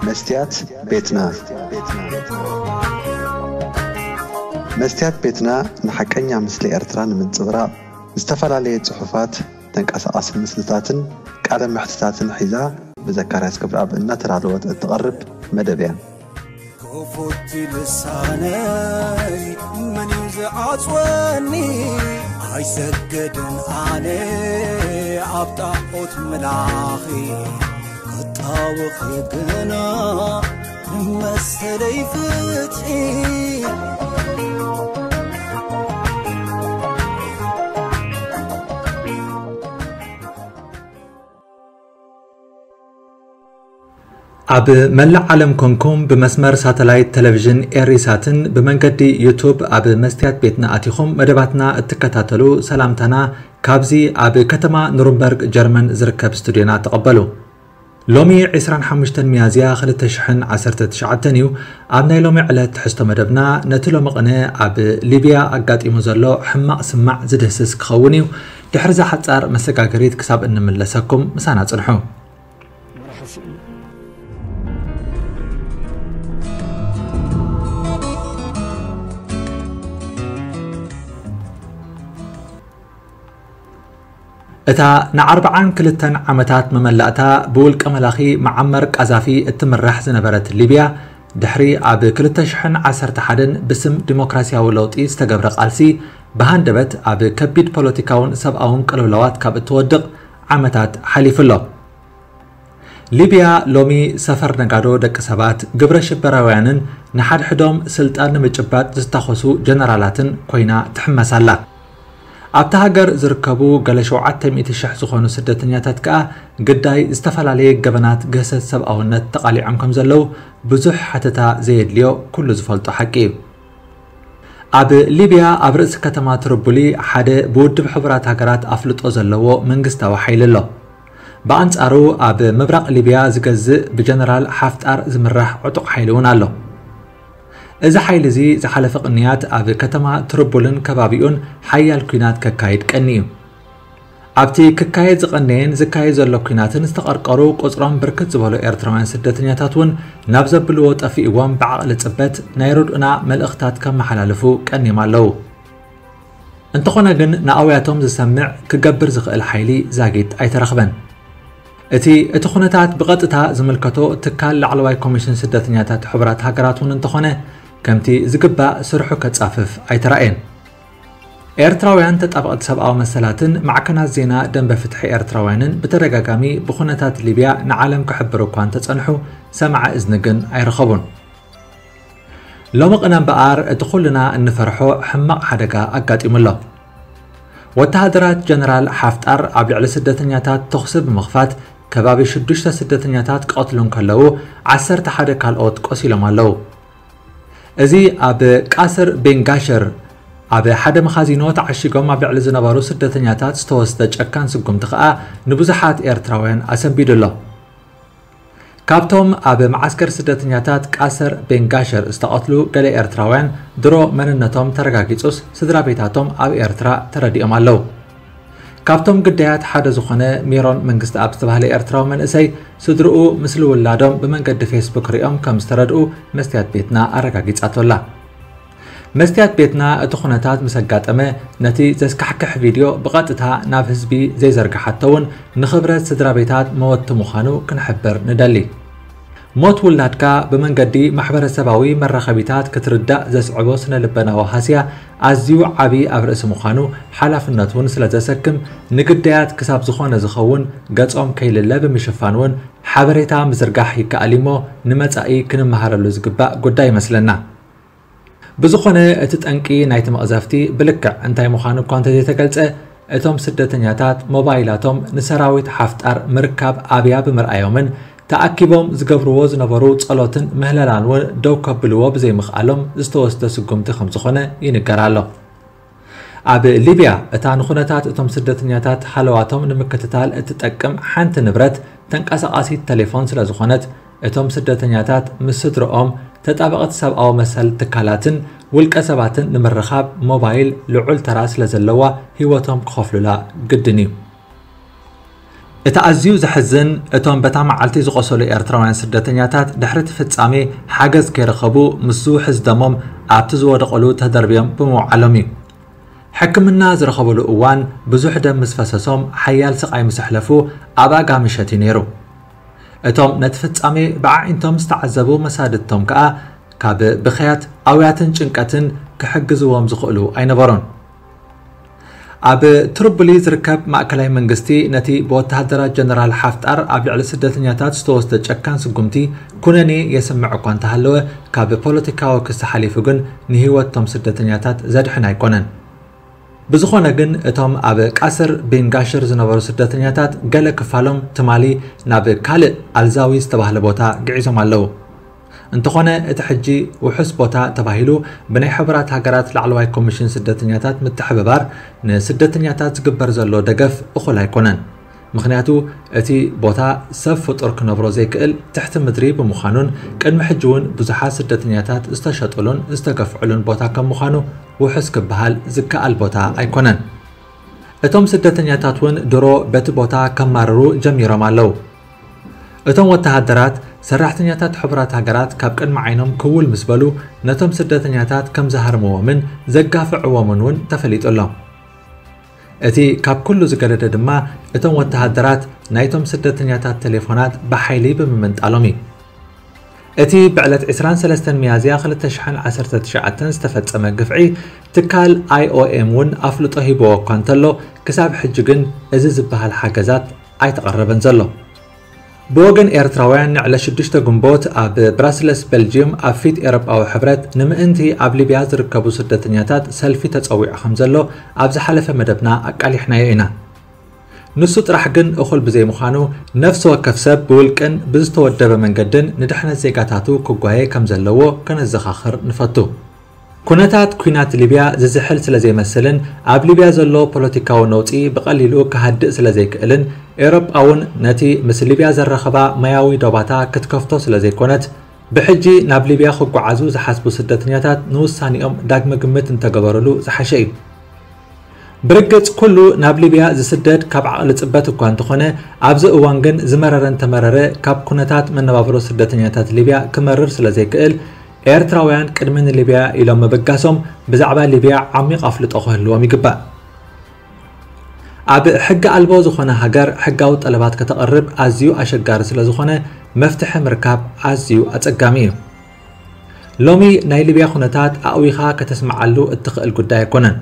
መስትያት ቤትና። መስትያት ቤትና ንሓቀኛ ምስሊ ኤርትራ ንምንጽብራቕ ዝተፈላለየ ጽሑፋት፣ ተንቀሳቓሲ ምስልታትን ቃለ መሕትታትን ሒዛ ብዘካርያስ ገብረኣብ እናተዳለወት እትቐርብ መደብ እያ። ክፉት ልሳነይ መን እዩ ዝዓጽወኒ? ኣይሰግድን ኣነ ኣብ ጣዖት ምላኺ፣ ክጣወኺ ግና መሰለይ ፍትሒ። ኣብ መላእ ዓለም ኮንኩም ብመስመር ሳተላይት ቴሌቪዥን ኤሪሳትን ብመንገዲ ዩቱብ ኣብ መስትያት ቤትና ኣቲኹም መደባትና እትከታተሉ ሰላምታና ካብዚ ኣብ ከተማ ኑርንበርግ ጀርመን ዝርከብ ስቱድዮና ተቐበሉ። ሎሚ ዕስራን ሓሙሽተን ሚያዝያ ክልተ ሽሕን ዓሰርተ ትሽዓተን እዩ። ኣብ ናይ ሎሚ ዕለት ትሕዝቶ መደብና ነቲ ሎሚ ቅነ ኣብ ሊብያ ኣጋጢሙ ዘሎ ሕማቕ ስማዕ ዝድህስስ ክኸውን እዩ። ድሕሪ እዛ ሓጻር መሰጋገሪት ክሳብ እንምለሰኩም ምሳና ጽንሑ። እታ ንኣርብዓን ክልተን ዓመታት መመላእታ ብውልቀ መላኺ መዓመር ቃዛፊ እትምራሕ ዝነበረት ሊብያ፣ ድሕሪ ኣብ ክልተ ሽሕን ዓሰርተ ሓደን ብስም ዲሞክራስያዊ ለውጢ ዝተገብረ ቃልሲ፣ ብሃንደበት ኣብ ከቢድ ፖለቲካውን ሰብኣውን ቅልውላዋት ካብ እትወድቕ ዓመታት ሓሊፉ ኣሎ። ሊብያ ሎሚ ሰፈር ነጋዶ ደቂ ሰባት፣ ግብረ ሽበራውያንን ንሓድሕዶም ስልጣን ንምጭባጥ ዝታኾሱ ጀነራላትን ኮይና ትሕመስ ኣላ። ኣብታ ሃገር ዝርከቡ ገለ ሸውዓተ ሚእቲ ሽሕ ዝኾኑ ስደተኛታት ከኣ ግዳይ ዝተፈላለየ ገበናት ግህሰት ሰብኣውነት ተቓሊዖም ከም ዘለዉ ብዙሕ ሓተታ ዘየድልዮ ኩሉ ዝፈልጦ ሓቂ እዩ። ኣብ ሊብያ ኣብ ርእሲ ከተማ ትርቡሊ ሓደ ብውድብ ሕቡራት ሃገራት ኣፍልጦ ዘለዎ መንግስታዊ ሓይሊ ኣሎ። ብኣንጻሩ ኣብ ምብራቕ ሊብያ ዝገዝእ ብጀነራል ሓፍጣር ዝምራሕ ዕጡቕ ሓይሊ እውን ኣሎ። እዚ ሓይሊ እዚ ዝሓለፈ ቅንያት ኣብ ከተማ ትርቡልን ከባቢኡን ሓያል ኲናት ከካይድ ቀኒ እዩ። ኣብቲ ክካየድ ዝቐነየን ዝካየድ ዘሎ ኲናትን ዝተቐርቀሩ ቁጽሮም ብርክት ዝበሉ ኤርትራውያን ስደተኛታት እውን ናብ ዘብልዎ ጠፊእዎም ብዓቕሊ ጽበት ናይ ርድኡና መልእኽታት ከመሓላልፉ ቀኒዮም ኣለዉ። እንተኾነ ግን ንኣውያቶም ዝሰምዕ ክገብር ዝኽእል ሓይሊ ዛጊት ኣይተረኽበን። እቲ እቲ ኩነታት ብቐጥታ ዝምልከቶ ትካል ላዕለዋይ ኮሚሽን ስደተኛታት ሕቡራት ሃገራት እውን እንተኾነ ከምቲ ዝግባእ ስርሑ ከጻፍፍ ኣይተራእየን። ኤርትራውያን ተጣበቕቲ ሰብኣዊ መሰላትን ማዕከናት ዜና ደንበ ፍትሒ ኤርትራውያንን ብተደጋጋሚ ብኩነታት ሊብያ ንዓለም ክሕብሩ እኳ እንተጸንሑ ሰማዒ እዝኒ ግን ኣይረኸቡን። ሎሚ ቅነ እምበኣር እቲ ኩልና እንፈርሖ ሕማቕ ሓደጋ ኣጋጢሙ ኣሎ። ወተሃደራት ጀነራል ሓፍጣር ኣብ ልዕሊ ስደተኛታት ተኹሲ ብምኽፋት ከባቢ ሽዱሽተ ስደተኛታት ክቐትሉ እንከለዉ ዓሰርተ ሓደ ካልኦት ቆሲሎም ኣለዉ። እዚ ኣብ ቃስር ቤንጋሸር ኣብ ሓደ መኻዚኖ ተዓሺጎም ኣብ ልዕሊ ዝነበሩ ስደተኛታት ዝተወስደ ጨካን ስጉምቲ ከኣ ንብዙሓት ኤርትራውያን ኣሰንቢዱ ኣሎ። ካብቶም ኣብ መዓስከር ስደተኛታት ቃሰር ቤንጋሸር ዝተቐትሉ ገለ ኤርትራውያን ድሮ መንነቶም ተረጋጊጹስ ስድራ ቤታቶም ኣብ ኤርትራ ተረዲኦም ኣለዉ። ካብቶም ግዳያት ሓደ ዝኾነ ሜሮን መንግስተኣብ ዝተባህለ ኤርትራዊ መንእሰይ ስድርኡ ምስሊ ውላዶም ብመንገዲ ፌስቡክ ሪኦም ከም ዝተረድኡ መስትያት ቤትና ኣረጋጊጻቶ ኣላ። መስትያት ቤትና እቲ ኩነታት ምስ ኣጋጠመ ነቲ ዘስካሕክሕ ቪድዮ ብቐጥታ ናብ ህዝቢ ዘይዘርግሓቶ እውን ንኽብረት ስድራ ቤታት መወቲ ምዃኑ ክንሕብር ንደሊ። ሞት ውላድካ ብመንገዲ ማሕበረሰባዊ መራኸቢታት ክትርዳእ ዘስዕቦ ስነ ልበናዊ ሃስያ ኣዝዩ ዓቢ ኣብ ርእሲ ምዃኑ ሓላፍነት እውን ስለ ዘሰክም ንግዳያት ክሳብ ዝኾነ ዝኸውን ገጾም ከይልለ ብምሽፋን እውን ሓበሬታ ምዝርጋሕ ይከኣል እዩሞ ንመጻኢ ክንመሃረሉ ዝግባእ ጉዳይ ይመስለና። ብዝኾነ እቲ ጠንቂ ናይቲ መቕዘፍቲ ብልክዕ እንታይ ምዃኑ እኳ እንተዘይተገልጸ እቶም ስደተኛታት ሞባይላቶም ንሰራዊት ሓፍጣር ምርካብ ኣብያ ብምርኣዮምን ተኣኪቦም ዝገብርዎ ዝነበሩ ጸሎትን ምህለላን እውን ደው ከብልዎ ብዘይምኽኣሎም ዝተወስደ ስጉምቲ ከም ዝኾነ ይንገር ኣሎ። ኣብ ሊብያ እታ ንኹነታት እቶም ስደተኛታት ሃለዋቶም ንምክትታል እትጠቅም ሓንቲ ንብረት ተንቀሳቓሲት ተሌፎን ስለ ዝኾነት እቶም ስደተኛታት ምስ ስድርኦም ተጣበቕቲ ሰብኣዊ መሰል ትካላትን ውልቀ ሰባትን ንምርኻብ ሞባይል ልዑል ተራ ስለ ዘለዋ ህይወቶም ክኸፍሉላ ግድን እዩ። እቲ ኣዝዩ ዘሕዝን፣ እቶም በታ መዓልቲ ዝቖሰሉ ኤርትራውያን ስደተኛታት ድሕሪ እቲ ፍጻሜ ሓገዝ ከይረኸቡ፣ ምስ ዝውሕዝ ደሞም ኣብቲ ዝወደቐሉ ተደርብዮም ብምውዓሎም እዩ። ሕክምና ዝረኸብሉ እዋን ብዙሕ ደም ምስ ፈሰሶም ሓያል ስቓይ ምስ ኣሕለፉ ኣብ ኣጋ ምሸት እዩ ነይሩ። እቶም ነቲ ፍጻሜ ብኣዒንቶም ዝተዓዘቡ መሳድድቶም ከኣ ካብ ብኽያት፣ ኣውያትን ጭንቀትን ክሕግዝዎም ዝኽእሉ ኣይነበሩን። ኣብ ትሪፖሊ ዝርከብ ማእከላይ መንግስቲ ነቲ ብወተሃደራት ጀነራል ሓፍጣር ኣብ ልዕሊ ስደተኛታት ዝተወስደ ጨካን ስጉምቲ ኩነኔ የስምዕ እኳ እንተሃለወ፣ ካብ ፖለቲካዊ ክሲ ሓሊፉ ግን ንህይወት እቶም ስደተኛታት ዘድሕን ኣይኮነን። ብዝኾነ ግን እቶም ኣብ ቃስር ቢን ጋሽር ዝነበሩ ስደተኛታት ገለ ክፋሎም ትማሊ ናብ ካልእ ኣልዛዊ ዝተባህለ ቦታ ግዒዞም ኣለዉ። እንተኾነ እቲ ሕጂ ውሑስ ቦታ ተባሂሉ ብናይ ሕቡራት ሃገራት ላዕለዋይ ኮሚሽን ስደተኛታት ምትሕብባር ንስደተኛታት ዝግበር ዘሎ ደገፍ እኹል ኣይኮነን። ምኽንያቱ እቲ ቦታ ሰብ ፍጡር ክነብሮ ዘይክእል ትሕቲ ምድሪ ብምዃኑን ቅድሚ ሕጂ እውን ብዙሓት ስደተኛታት ዝተሸጥሉን ዝተገፍዕሉን ቦታ ከም ምዃኑ ውሑስ ክበሃል ዝከኣል ቦታ ኣይኮነን። እቶም ስደተኛታት እውን ድሮ በቲ ቦታ ከማርሩ ጀሚሮም ኣለዉ። እቶም ወተሃደራት ሰራሕተኛታት ሕቡራት ሃገራት ካብ ቅድሚ ዓይኖም ክውል ምስ በሉ ነቶም ስደተኛታት ከም ዝሃርምዎምን ዘጋፍዕዎምን እውን ተፈሊጡ ኣሎ። እቲ ካብ ኩሉ ዝገደደ ድማ እቶም ወተሃደራት ናይቶም ስደተኛታት ቴሌፎናት ብሓይሊ ብምምንጣሎም እዩ። እቲ ብዕለት ዕስራን ሰለስተን ሚያዝያ ክልተ ሽሕን ዓሰርተ ትሽዓተን ዝተፈጸመ ግፍዒ ትካል ኣይኦኤም እውን ኣፍልጦ ሂብዎ እኳ እንተሎ ክሳብ ሕጂ ግን እዚ ዝበሃል ሓገዛት ኣይተቐረበን ዘሎ። ብወገን ኤርትራውያን ንዕለት ሽዱሽተ ግንቦት ኣብ ብራስለስ ቤልጅየም ኣብ ፊት ኤውሮጳዊ ሕብረት ንምእንቲ ኣብ ሊብያ ዝርከቡ ስደተኛታት ሰልፊ ተጸዊዑ ከም ዘሎ ኣብ ዝሓለፈ መደብና ኣቃሊሕናዮ ኢና። ንሱ ጥራሕ ግን እኹል ብዘይምዃኑ ነፍሲ ወከፍ ሰብ ብውልቅን ብዝተወደበ መንገድን ንድሕነት ዜጋታቱ ክጓየ ከም ዘለዎ ከነዘኻኽር ንፈቱ። ኩነታት ኲናት ሊብያ ዝዝሕል ስለ ዘይመስልን ኣብ ሊብያ ዘሎ ፖለቲካዊ ነውጺ ብቐሊሉ ክሃድእ ስለ ዘይክእልን ኤውሮጳ እውን ነቲ ምስ ሊብያ ዘራኸባ ማያዊ ዶባታ ክትከፍቶ ስለ ዘይኮነት ብሕጂ ናብ ሊብያ ክጓዓዙ ዝሓስቡ ስደተኛታት ንውሳኔኦም ዳግመ ግምት እንተገበሩሉ ዝሓሸ እዩ። ብርግጽ ኩሉ ናብ ሊብያ ዝስደድ ካብ ዓቕሊ ጽበት እኳ እንተኾነ ኣብዚ እዋን ግን ዝመረረ እንተመረረ ካብ ኩነታት መነባብሮ ስደተኛታት ሊብያ ክመርር ስለ ዘይክእል ኤርትራውያን ቅድሚ ንሊብያ ኢሎም ምብጋሶም ብዛዕባ ሊብያ ዓሚቕ ኣፍልጦ ክህልዎም ይግባእ። ኣብ ሕጊ ኣልቦ ዝኾነ ሃገር ሕጋዊ ጠለባት ከተቕርብ ኣዝዩ ኣሸጋሪ ስለ ዝኾነ መፍትሒ ምርካብ ኣዝዩ ኣጸጋሚ እዩ። ሎሚ ናይ ሊብያ ኩነታት ኣእዊኻ ከተስምዓሉ እትኽእል ጉዳይ ኣይኮነን።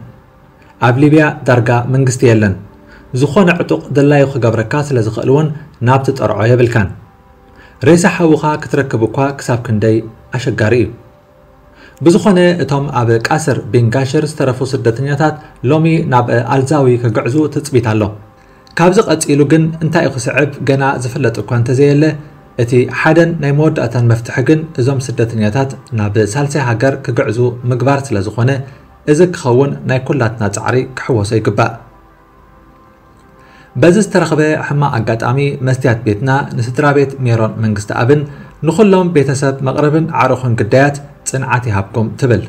ኣብ ሊብያ ዳርጋ መንግስቲ የለን። ዝኾነ ዕጡቕ ደላዩ ክገብረካ ስለ ዝኽእል እውን ናብ ትጠርዖ የብልካን። ሬሳ ሓውኻ ክትረክብ እኳ ክሳብ ክንደይ ኣሸጋሪ እዩ። ብዝኾነ እቶም ኣብ ቃስር ቢንጋሽር ዝተረፉ ስደተኛታት ሎሚ ናብ ኣልዛዊ ክግዕዙ ትጽቢት ኣሎ። ካብዚ ቀጺሉ ግን እንታይ እዩ ክስዕብ ገና ዝፍለጥ እኳ እንተዘየለ፣ እቲ ሓደን ናይ መወዳእታን መፍትሒ ግን እዞም ስደተኛታት ናብ ሳልሳይ ሃገር ክግዕዙ ምግባር ስለ ዝኾነ፣ እዚ ክኸውን ናይ ኩላትና ጻዕሪ ክሕወሶ ይግባእ። በዚ ዝተረኽበ ሕማቕ ኣጋጣሚ መስትያት ቤትና ንስድራ ቤት ሜሮን መንግስተኣብን ንኹሎም ቤተሰብ መቕርብን ኣዕሩኽን ግዳያት ጽንዓት ይሃብኩም ትብል።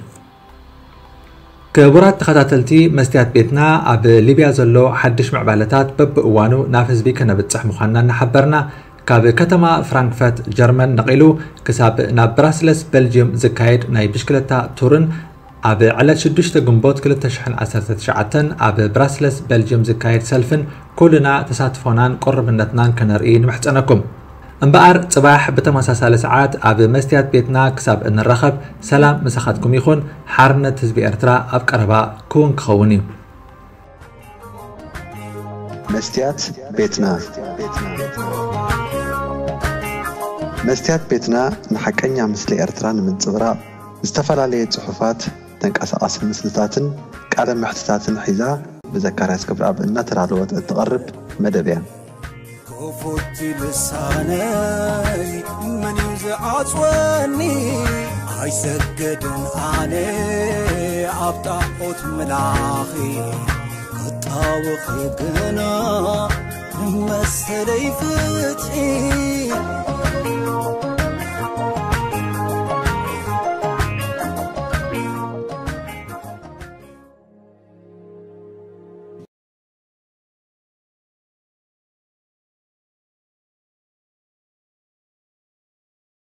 ክቡራት ተኸታተልቲ መስትያት ቤትና፣ ኣብ ሊብያ ዘሎ ሓድሽ ምዕባለታት በብእዋኑ ናብ ህዝቢ ከነብጽሕ ምዃንና እናሓበርና፣ ካብ ከተማ ፍራንክፈርት ጀርመን ነቒሉ ክሳብ ናብ ብራስለስ ቤልጅየም ዝካየድ ናይ ብሽክለታ ቱርን ኣብ ዕለት ሽዱሽተ ግንቦት ክልተ ሽሕን ዓሰርተ ትሽዓተን ኣብ ብራስለስ ቤልጅየም ዝካየድ ሰልፍን ኩልና ተሳትፎናን ቅሩብነትናን ከነርኢ ንምሕጸነኩም። እምበኣር ጽባሕ ብተመሳሳሊ ሰዓት ኣብ መስትያት ቤትና ክሳብ እንራኸብ ሰላም ምሳኻትኩም ይኹን። ሓርነት ህዝቢ ኤርትራ ኣብ ቀረባ ክውን ክኸውን እዩ። መስትያት ቤትና። መስትያት ቤትና ንሓቀኛ ምስሊ ኤርትራ ንምንጽብራቕ ዝተፈላለየ ጽሑፋት፣ ተንቀሳቓሲ ምስልታትን ቃለ መሕትታትን ሒዛ ብዘካርያስ ክብረኣብ እናተዳለወት እትቐርብ መደብ እያ። ክፉት ልሳነይ መን እዩ ዝዓጽወኒ? ኣይሰግድን ኣነ ኣብ ጣዖት ምላኺ፣ ክጣወኺ ግና ንመሰለይ ፍትሒ።